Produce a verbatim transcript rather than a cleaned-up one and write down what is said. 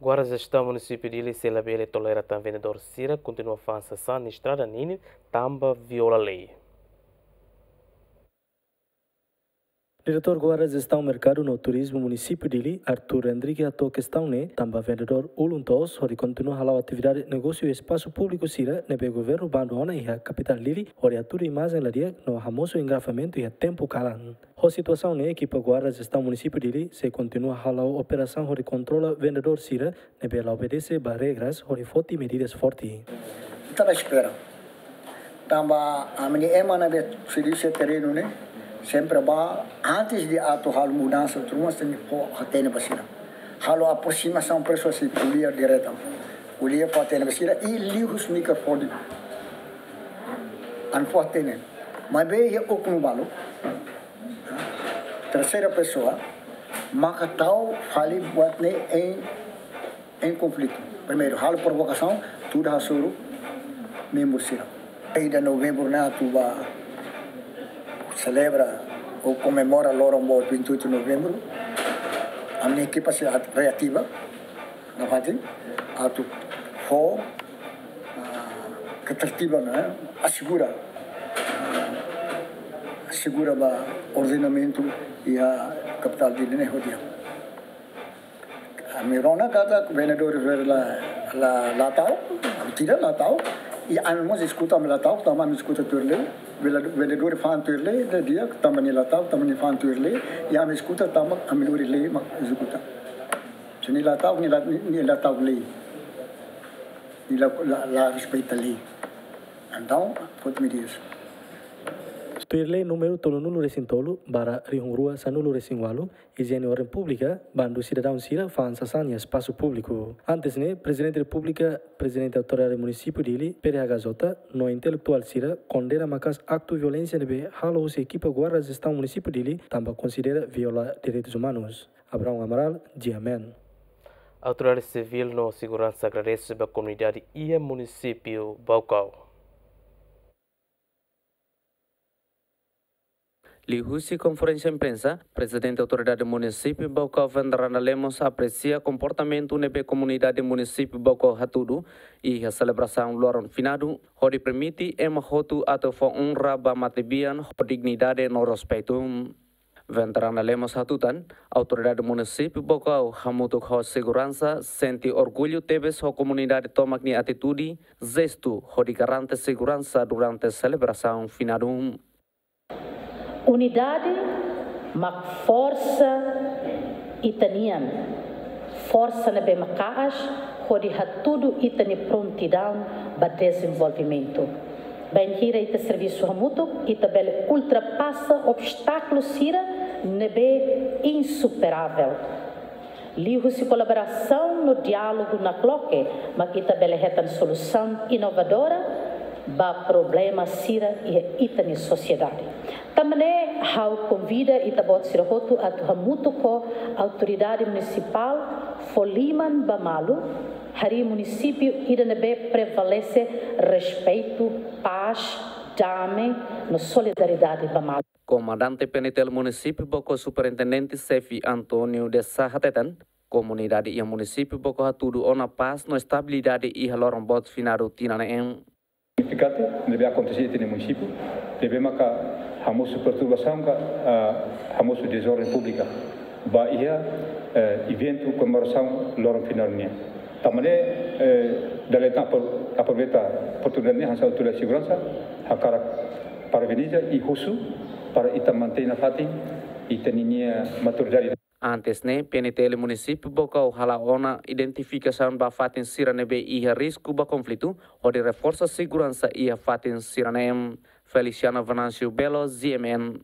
Guarda Jestaun Munisípiu Dili sei labele tolera tan vendedór sira kontinua fa'an sasán iha estrada ninin tanba viola lei. Diretór Guarda Jestaun Merkadu no Turizmu Munisípiu Dili, Arthur Henrique, hato'o kestaun ne'e tanba vendedór ulun toos hodi kontinua hala'o atividade negósiu iha espasu públiku sira ne'ebé governu bandu ona iha kapitál Dili hodi hatudu imajen la di'ak no hamosu engarrafamentu iha tempu kalan. Ho situasaun ne'e, ekipa Guarda Jestaun Munisípiu Dili sei kontinua hala'o operasaun hodi kontrola vendedór sira ne'ebé la obedese ba regras hodi foti medidas forte. Ita la espera. Tanba ami-nia ema ne'ebé servisu iha terrenu ne'e, sempre ba, antes de atu halo mudansa, tuir uma, sei fó hatene ba sira. Halo aproximasaun, pesoa sei ko'alia direta. Ko'alia fó hatene ba sira, i liuhusi mikrofone. Ami fó hatene. Maibé iha oknum balu, terseira pesoa, maka tau fali buat ne'e em, em konflitu. Primeiru, halo provokasaun, tuda hasoru membru sira. Ida Novembru ne'e atu ba selebra ou komemora loron boot vinte e oito de Novembro. Ami-nia ekipa sei at-, reativa, nafatin, atu fó, ah, ketertiban, eh, asegura, ah, asegura ba ordenamentu iha kapitál Dili ne'e ho di'ak. Ami rona katak vendedór sira la, la, la ta'uk, ami tidak la ta'uk. I ami mós eskuta ami la ta'uk, tanba ami eskuta tuir lei. Vela-, vendedór fa'an tuir lei, la di'ak, tanba nia la ta'uk, tanba nia fa'an tuir lei. I ami eskuta tanba ami lori lei mak ezekuta. Se nia la ta'uk, nia la, nia, nia la ta'uk lei. Nia la, la, la respeita lei. Entaun, foti medidas. Tuir lei númeru tolunulu-resin-tolu barra rihun rua sanulu-resin-ualu, ijiene orden públika, bandu sidadaun sira fa'an sasán iha espasu públiku. Antes ne'e, Prezidente Repúblika, Prezidente Autoridade Munisípiu Dili, P D H K J, no intelektuál sira kondena maka'as aktu violénsia ne'ebé halo husi ekipa Guarda Jestaun Munisípiu Dili tanba konsidera viola direitus umanus. Abraão Amaral, G M N. Autoridade Sivíl no Seguransa agradese ba komunidade iha Munisípiu Baucau. Liuhusi konferénsia imprensa, Prezidente Autoridade Munisípiu Baucau, Vendrana Lemos, apresia komportamentu ne'ebé komunidade Munisípiu Baucau hatudu iha selebrasaun loron finadu, hodi permite ema hotu atu fó onra ba matebian ho dignidade no respeitu. Vendrana Lemos hatutan, Autoridade Munisípiu Baucau hamutuk ho seguransa sente orgullu tebes ho komunidade tomak nia atitude, jestu hodi garante seguransa durante selebrasaun finadu. Unidade mak forsa ita-nian, forsa ne'ebé maka'as hodi hatudu ita-nia prontidaun ba dezenvolvimentu. Bainhira ita servisu hamutuk, ita bele ultrapasa obstákulu sira ne'ebé insuperavel. Liuhusi kolaborasaun no diálogu nakloke, mak ita bele hetan solusaun inovadora ba problema sira iha ita-nia sosiedade. Tanba ne'e, ha'u konvida ita-boot sira hotu atu hamutuk ho autoridade munisipál fó liman ba malu, harii munisípiu ida ne'ebé prevalese respeitu, pás, dame no solidariedade ba malu. Komandante P N T L Munisípiu Baucau, Superintendente Xefe António de Sá hateten, komunidade iha Munisípiu Baucau hatudu ona pás no estabilidade iha loron boot finadu tinan ne'e. Signifikante ne'ebé akontese iha ita-nia munisípiu, ne'ebé maka hamosu perturbasaun ka, ah, hamosu dezorden públika ba iha, eh, eventu komemorasaun loron finadu nian. Tanba ne'e, eh, dala ida tan apro-, aproveita oportunidade ne'e hanesan autoridade seguransa, hakarak parabeniza i husu para ita mantein nafatin ita-nia maturidade. Antes ne'e, P N T L Munisípiu Baucau hala'o ona identifikasaun ba fatin sira ne'ebé iha risku ba konflitu, hodi reforsa seguransa iha fatin sira-ne'e. Feliciano Venâncio Belo, G M N.